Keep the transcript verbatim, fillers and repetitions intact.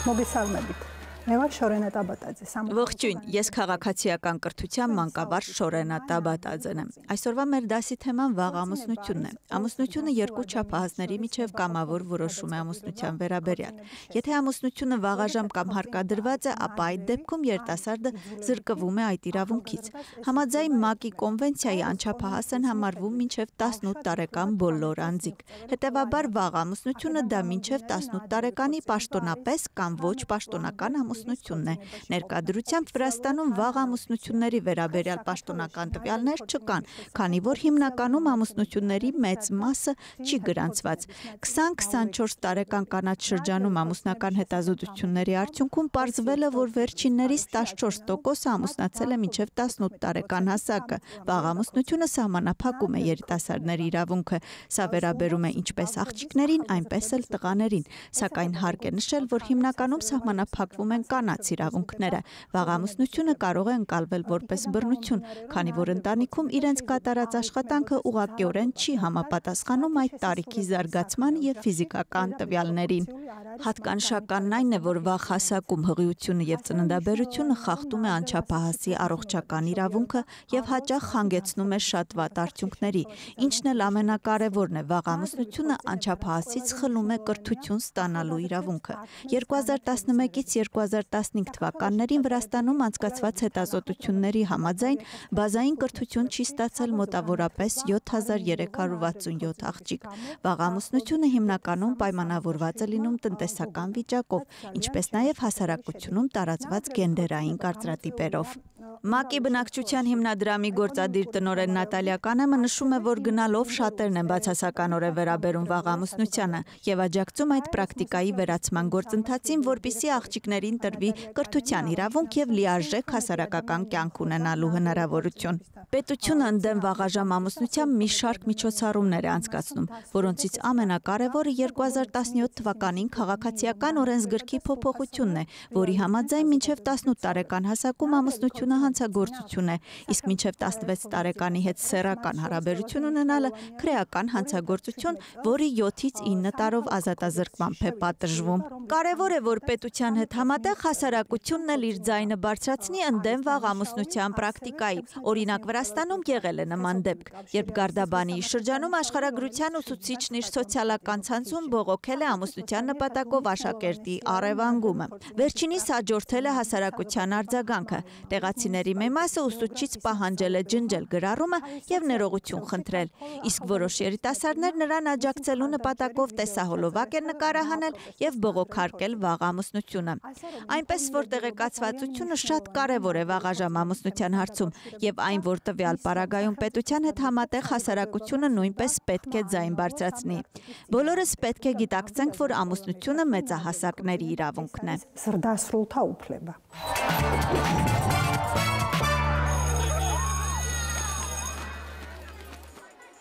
Մոգեսալմեբիտ Նեվար Շորենա Տաբատաձե Ողջույն, ես քաղաքացիական կրթության մանկավարժ Շորենա Տաբատաձեն եմ։ Այսօրվա մեր դասի թեման վաղ ամուսնությունն է։ Ամուսնությունը երկու չափահասների միջև կամավոր որոշում է ամուսնության վերաբերյալ։ Եթե ամուսնությունը վաղաժամ կամ հարկադրված է, ապա այդ դեպքում երիտասարդը զրկվում է այդ իրավունքից։ Համաձայն ՄԱԿ-ի կոնվենցիայի անչափահաս են համարվում մինչև տասնութ տարեկան բոլոր անձիկ։ Հետևաբար վաղ ամուսնությունը դա մինչև տասնութ տարեկանի պաշտոնապես կամ ոչ պաշտոնական ամուսնությունն է։ Ներկայությամբ Վրաստանում վաղ ամուսնությունների վերաբերյալ պաշտոնական տվյալներ չկան, քանի որ հիմնականում ամուսնությունների մեծ մասը չի գրանցված։ քսան քսանչորս տարեկան կանաչ շրջանում ամուսնական հետազոտությունների արդյունքում պարզվել է, որ վերջիններից տասնչորս տոկոսը ամուսնացել է մինչև տասնութ տարեկան հասակը։ Վաղ ամուսնությունը սահմանափակում է երիտասարդների իրավունքը։ Սա վերաբերում է ինչպես աղջիկներին, այնպես էլ տղաներին։ Սակայն հարկ է նշել, որ հիմնականում սահմանափակվում են կանանց իրավունքները։ Վաղ ամուսնությունը կարող է ընկալվել որպես բռնություն, քանի որ ընտանիքում իրենց կատարած աշխատանքը ուղղակիորեն չի համապատասխանում այդ տարիքի զարգացման եւ ֆիզիկական տվյալներին։ Հատկանշականն այն է, որ վաղ հասակում հղիությունը եւ ծննդաբերությունը խախտում է անչափահասի առողջական իրավունքը եւ հաճախ հանգեցնում է շատ վատ արդյունքների։ Ինչն էլ ամենակարևորն է, վաղ ամուսնությունը անչափահասից խլում է կրթություն ստանալու իրավունքը։ երկու հազար տասնմեկից երկու հազար տասնհինգ թվականներին Վրաստանում անցկացված հետազոտությունների համաձայն բազային կրթություն չի ստացել մոտավորապես յոթ հազար երեք հարյուր վաթսունյոթ աղջիկ։ Վաղ ամուսնությունը հիմնականում պայմանավորված է լինում տնտեսական վիճակով, ինչպես նաև հասարակությունում տարածված գենդերային կարծրատիպերով։ ՄԱԿ-ի բնակչության հիմնադրամի գործադիր տնօրեն Նատալիա Կանեմը նշում է, որ գնալով շատերն են բացասականորեն վերաբերում վաղ ամուսնությանը եւ աջակցում այդ պրակտիկայի վերացման գործընթացին, որպիսի աղջիկներին տրվի կրթության իրավունք եւ լիարժեք հասարակական կյանք ունենալու հնարավորություն։ Պետությունը ընդդեմ վաղաժամ ամուսնության մի շարք միջոցառումներ է անցկացնում, որոնցից ամենակարևորը երկու հազար տասնյոթ թվականին քաղաքացիական օրենսգրքի փոփոխությունն է, որի համաձայն մինչև տասնութ տարեկան հասակում ամուսնությունը հանցագործություն է, իսկ մինչև տասնվեց տարեկանի հետ սեռական հարաբերություն ունենալը քրեական հանցագործություն, որի յոթից ինը տարով ազատազրկմամբ է պատժվում։ Կարևոր է, որ պետության հետ համատեղ հասարակությունն էլ իր ձայնը բարձրացնի ընդդեմ վաղ ամուսնության պրակտիկայի։ Օրինակ Վրաստանում եղել է նման դեպք, երբ Գարդաբանիի շրջանում աշխարհագրության ուսուցիչն իր սոցիալական ցանցում բողոքել է ամուսնության նպատակով աշակերտի առևանգումը։ Վերջինիս հաջորդել է հասարակության արձագանքը։ Տեղացիների մի մասը ուսուցչից պահանջել է ջնջել գրառումը եւ ներողություն խնդրել, իսկ որոշ երիտասարդներ նրան աջակցելու նպատակով տեսահոլովակ են նկարահանել եւ բողոքարկել վաղ ամուսնությունը։ Այնպես որ տեղեկացվածությունը շատ կարևոր է վաղաժամ ամուսնության հարցում եւ այն, որ տվյալ պարագայում պետության հետ համատեղ հասարակությունը նույնպես պետք է ձայն բարձրացնի։ Բոլորս պետք է գիտակցենք, որ ամուսնությունը մեծահասակների իրավունքն է։